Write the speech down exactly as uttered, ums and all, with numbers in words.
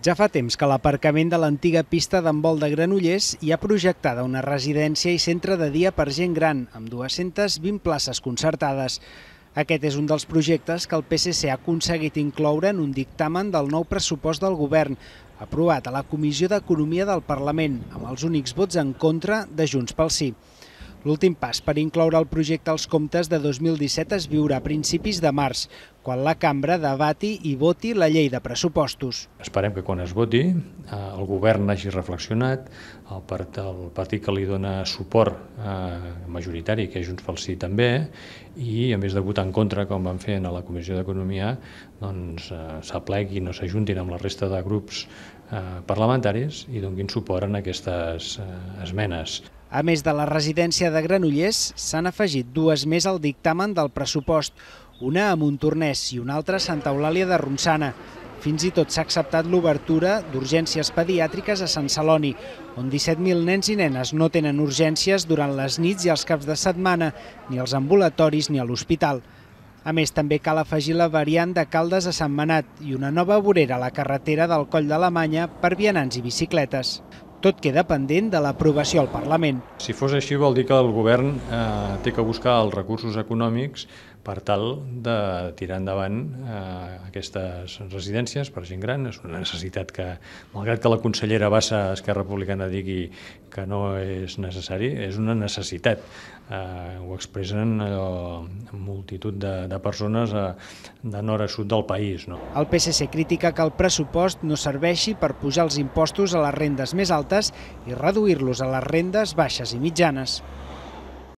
Ja fa temps que a l'aparcament de l'antiga pista d'handbol de Granollers hi ha projectada una residència i centre de dia per gent gran, amb dues-centes vint places concertades. Aquest és un dels projectes que el P S C ha aconseguit incloure en un dictamen del nou pressupost del govern, aprovat a la Comissió d'Economia del Parlament, amb els únics vots en contra de Junts pel Sí. L'últim pas per incloure el projecte als comptes de dos mil disset es viurà a principis de març, quan la cambra debati i voti la llei de pressupostos. Esperem que quan es voti el govern hagi reflexionat, el partit que li dona suport majoritari, que és Junts pel Sí també, i a més de votar en contra, com van fer a la Comissió d'Economia, doncs s'apleguin o s'ajuntin amb la resta de grups parlamentaris i donin suport a aquestes esmenes. A més de la residència de Granollers, s'han afegit dues més al dictamen del pressupost, una a Montornès i una altra a Santa Eulàlia de Ronçana. Fins i tot s'ha acceptat l'obertura d'urgències pediàtriques a Sant Celoni, on disset mil nens i nenes no tenen urgències durant les nits i els caps de setmana, ni als ambulatoris ni a l'hospital. A més, també cal afegir la variant de Caldes a Sant Manat i una nova vorera a la carretera del Coll d'Alemanya per vianants i bicicletes. Tot queda pendent de l'aprovació al Parlament. Si fos així, vol dir que el govern eh, té que buscar els recursos econòmics per tal de tirar endavant eh, aquestes residències per gent gran. És una necessitat que, malgrat que la consellera Bassa, Esquerra Republicana, digui que no és necessari, és una necessitat. Eh, ho expressen allò, multitud de, de persones a, de nord a sud del país. No? El P S C critica que el pressupost no serveixi per pujar els impostos a les rendes més altes i reduir-los a les rendes baixes i mitjanes.